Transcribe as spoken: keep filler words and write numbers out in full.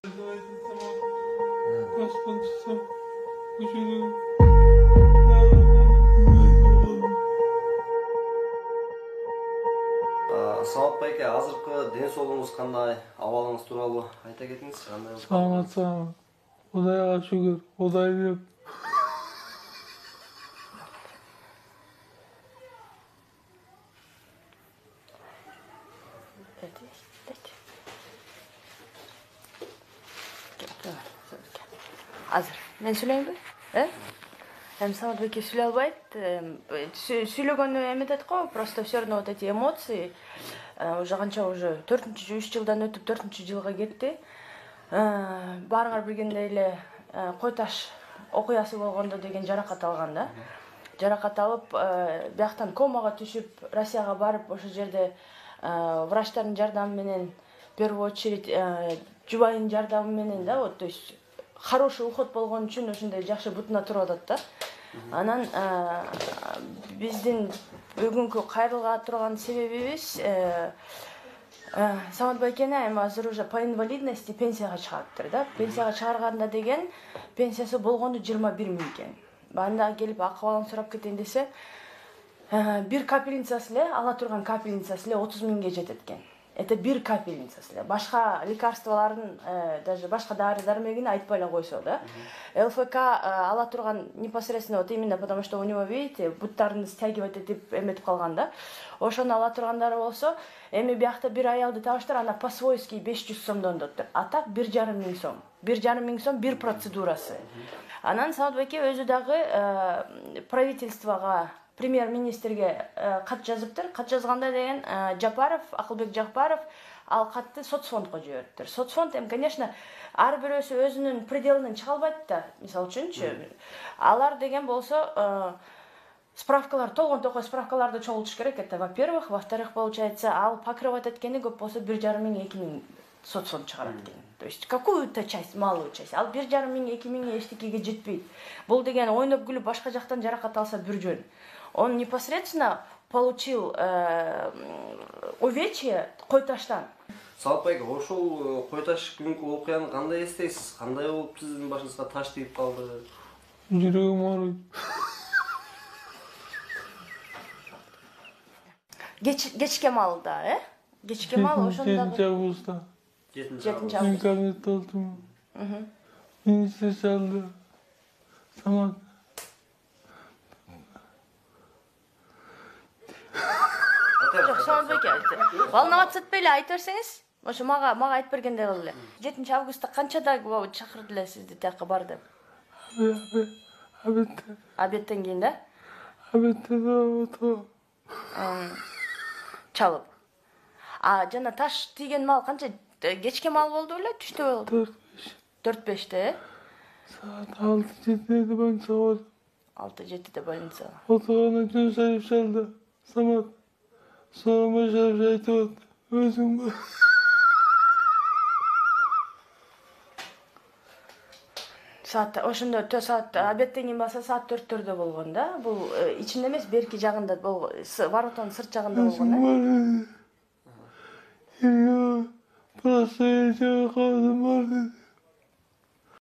Самат байке, азыркы ден соолугуңуз кандай, абалыңыз тууралуу айта кетиңизчи, кандай? Саламат, саламат. Кудайга шүгүр, Кудай деп. Азыр мен сүйлөйүнбү? Э? Эми Самат байке сүйлөй албайт. Сүйлөгөнү эметет го, просто все равно вот эти эмоции уже канча уже төртүнчү үч жылдан өтүп төртүнчү жылга кетти. Баарыңар билгендей эле кой таш окуясы болгондо деген жаракат алган да. Жаракат алып, бияктан комага түшүп, Россияга барып, ошол жерде врачтардын жардамы менен, в первую очередь, жубайынын жардамы менен да, вот, то есть хороший уход болгон үчүн ошондой жакшы бутуна туруп атат да. Анан биздин бүгүнкү кайрылга турган себебибиз Самат байкени эми азыр уже по инвалидности пенсияга чыгарыптыр да. Пенсияга чыгарганда деген пенсиясы болгону жыйырма бир миң экен. Анда келип акыбалын сурап кетейин десе, бир капельницасы эле, ала турган капельницасы эле отуз миңге жетет экен. Это бир капельницасы эле. Башка лекарстволордун, даже башка дары-дармегин айтпай эле койсо да. ЛФК ала турган непосредственно вот именно потому что у него, видите, буттарын стягивать этип эметип калган да. Ошону ала тургандары болсо, эми биякта бир аялды табыштыр, ана по-свойски беш жүз сомдон доттур. А так бир жарым миң сом. бир жарым миң сом бир процедурасы. Анан Самат байке өзү дагы правительствого, премьер-министрге кат жазыптыр. Кат жазганда деген Жапаров, Акылбек Жапаров ал катты соцфондко жибериптир. Соцфонд эми, конечно, ар бирөөсү өзүнүн пределинен чыга албайт да. Мисалы үчүнчү, алар деген болсо справкалар, толгон токой справкаларды чогултуш керек. Это во-первых, во-вторых, получается, ал покрывать эткени көп болсо бир жарым миң эки миң соцфонд чыгарат экен. То есть какую-то часть, малую часть. Ал бир жарым миң эки миң эчтекеге жетпейт. Бул деген ойноп күлүп башка жактан жаракат алса бир жөн. Он непосредственно получил увечье кой таштан. Самат байке, ошол кой таш күнкү окуяны кандай эстейсиз? Кандай болуп сиздин башыңызга таш тийип калды? Жүрөгүм ооруйт. Кечке маалда, э? Кечке маал ошондо жетинчи августта. жетинчи Мен август. кабинетте олтурмун. Министр чалды. Самат. Жок, Самат байке, волноваться этпей эле айта берсеңиз. Ошо мага мага айтып бергендей кылып эле. жетинчи августта канчада чакырды эле сизди тияка бар деп? Обедтен. Обедтен кийин да? Обедтен отуруп. Чалып. А жана таш тийген маал канча? Кечке маал болду беле, түштө болду? төрт беште, э? Саат алты жетиде больница бар. алты жетиде больница. Отурганда Жөнсаев чалды. Самат. Соромой шарып айтып атты. Өзүң бар. Саат ошондо төрт саат обедтен кийин баса саат төрттөрдө болгон да. Бул ичинде эмес, берки жагында болгон, воротонун сырт жагында болгон, э? Просто я калдым бар.